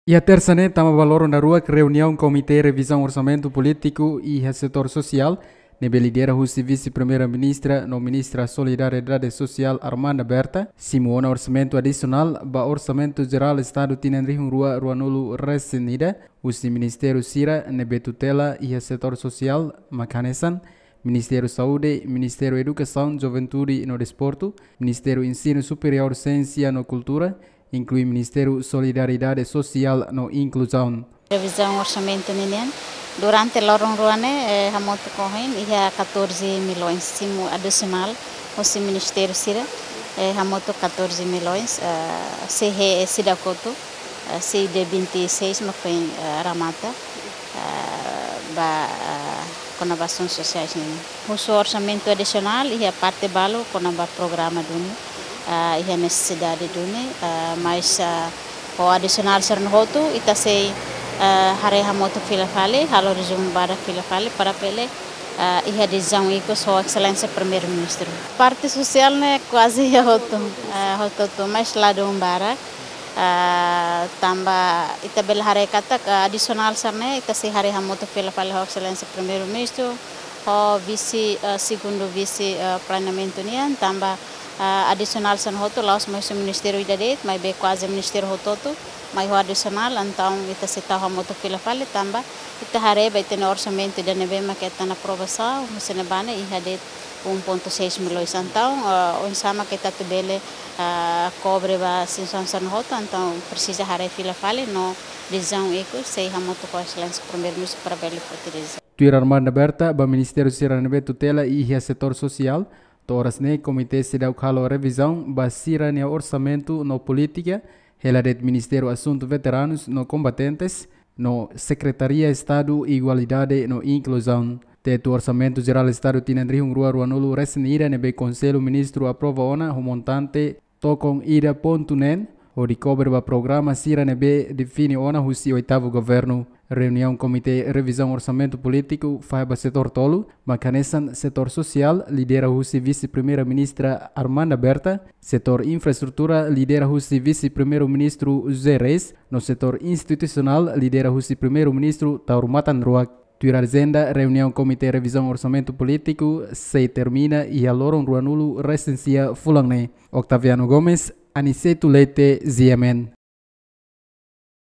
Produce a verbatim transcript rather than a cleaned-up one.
Iha tersa ne'e tama ba loron daruak, reuniaun Komité Revizaun Orsamentu Polítiku iha setór sosiál ne'ebé lidera husi Vise-Primeira-Ministra no Ministra Solidariedade Sosiál, Armanda Berta, simu ona orsamentu adisionál ba Orsamentu Jerál Estadu tinan rihun rua ruanulu resin ida husi ministériu sira ne'ebé tutela iha setór sosiál, mak hanesan Ministériu Saúde, Ministériu Edukasaun, Juventude no Desportu, Ministériu Ensinu Superiór, Siénsia no Kultura, inklui Ministériu Solidariedade Sosiál no Inkluzaun. Revizaun orsamentu ninian durante loron rua ne'e, eh, hamutuk ohin iha catorze milhões simu adisionál husi ministériu sira, eh, hamutuk catorze milhões, eh, C G E seidauk hotu, eh, C I D vinte e seis mak foin, eh, remata, eh, ba, eh, kona-ba asaun sosiais nian. Husu orsamentu adisionál iha parte balu kona-ba programa duni, eh, iha nesesidade duni, eh, mas, eh, ho adisionál sira-ne'e hotu, ita sei, eh, haree hamutuk fila fali, halo rezumu badak fila fali, para bele, eh, iha desizaun ikus ho Exelénsia Primeiru-Ministru. Parte sosiál ne'e kuaze iha hotu, eh, hotu-hotu, mas ladún barak. Ah, tanba ita bele haree katak, ah, adisionál sira-ne'e, ita sei haree hamutuk fila fali ho Exelénsia Primeiru-Ministru, ho vise, ah, segundu vise, ah, planeamentu nian, tanba, ah, adisionál sira-ne'e hotu la'ós mai husi ministériu ida de'it, maibé kuaze ministériu hotu-hotu, mai ho adisionál, entaun ita sei tau hamutuk fila fali, tanba ita haree ba ita-nia orsamentu ida ne'ebé mak hetan aprovasaun, husi ne'ebá ne'e iha de'it um ponto seis milhões. Entaun, ah, oinsá mak ita atu bele, ah, kobre ba situasaun sira-ne'e hotu, entaun presiza haree fila fali no desizaun ikus sei hamutuk ho Exelénsia Primeiru-Ministru para bele foti desizaun. Tuir Armanda Berta, ba ministériu sira ne'ebé tutela iha setór sosiál, to'o oras ne'e komité seidauk halo revizaun ba sira-nia orsamentu no polítika, hela de'it Ministériu Asuntu Veteranus no Kombatentes, no Sekretaria Estadu Igualdade no Inkluzaun. Tetu Orsamentu Jerál Estadu tinan rihun rua ruanulu resin ida ne'ebé Konsellu Ministru aprova ona ho montante tokon ida pontu neen, hodi kobre ba programa sira ne'ebé define ona husi oitavu governu. Reuniaun Komité Revizaun Orsamentu Polítiku fahe ba setór tolu, mak hanesan setór sosiál, lidera husi Vise-Primeira-Ministra Armanda Berta, setór infraestrutura, lidera husi Vise-Primeiru-Ministru José Reis, no setór institusionál, lidera husi Primeiru-Ministru Taur Matan Ruak. Tuir ajenda, reuniaun Komité Revizaun Orsamentu Polítiku sei termina iha loron ruanulu resin sia fulan ne'e. Octaviano Gomes, Aniceto Leite, G M N.